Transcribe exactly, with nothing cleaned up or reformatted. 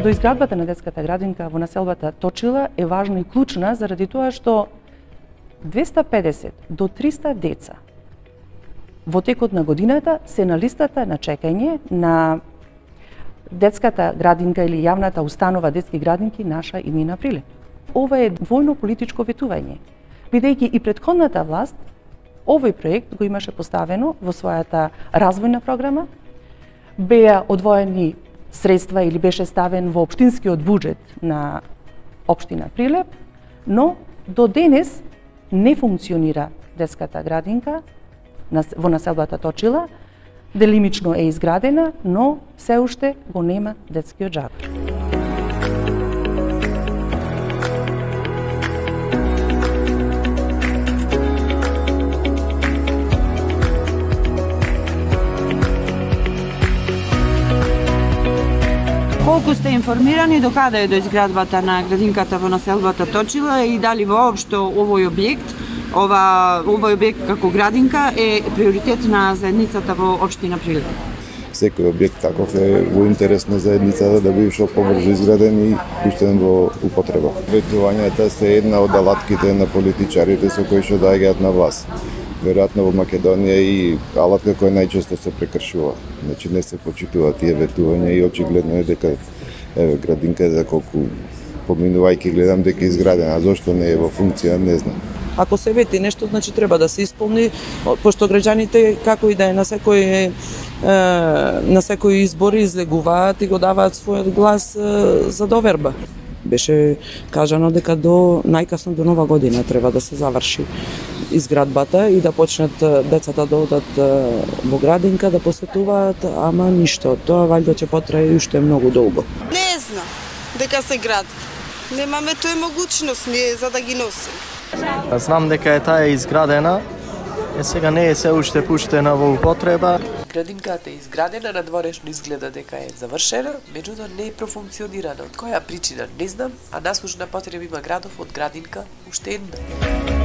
доизградбата на детската градинка во населбата Точила е важна и клучна заради тоа што двесте и педесет до триста деца во текот на годината се на листата на чекање на детската градинка или јавната установа детски градинки Наша Иднина Прилеп. Ова е двојно политичко ветување, бидејќи и претходната власт овој проект го имаше поставено во својата развојна програма, беа одвоени средства или беше ставен во општинскиот буџет на општина Прилеп, но до денес не функционира детската градинка во населбата Точила, делимично е изградена, но се уште го нема детскиот џаб. Колку сте информирани до каде е доизградбата на градинката во населбата Точила и дали воопшто овој објект, ова овој објект како градинка е приоритет на заедницата во општина Прилеп? Секој објект таков е во интерес на заедницата да биде што побрзо изграден и пуштен во употреба. Ветувањата се една од алатките на политичарите со кои што доаѓаат на власт. Веројатно во Македонија и алатка која најчесто се прекршува. Значи не се почитуваат тие ветувања и очигледно е дека еве градинка за колку поминувајќи гледам дека е изградена, а зошто не е во функција не знам. Ако се вети нешто, значи треба да се исполни, пошто граѓаните како и да е на секој на секој избори излегуваат и го даваат својот глас за доверба. Беше кажано дека до најкасно до нова година треба да се заврши изградбата и да почнат децата да одат во градинка, да посетуваат, ама ништо од тоа валјда ќе потрае уште многу долго. Не знам дека се гради. Немаме тој могуćност ние за да ги носим. Знам дека е таа изградена, е сега не е се уште пуштена во употреба. Градинката е изградена, надворешно изгледа дека е завршена, меѓутоа не е профункционирана. Од која причина не знам, а наслушна потреба има градов од градинка уште една.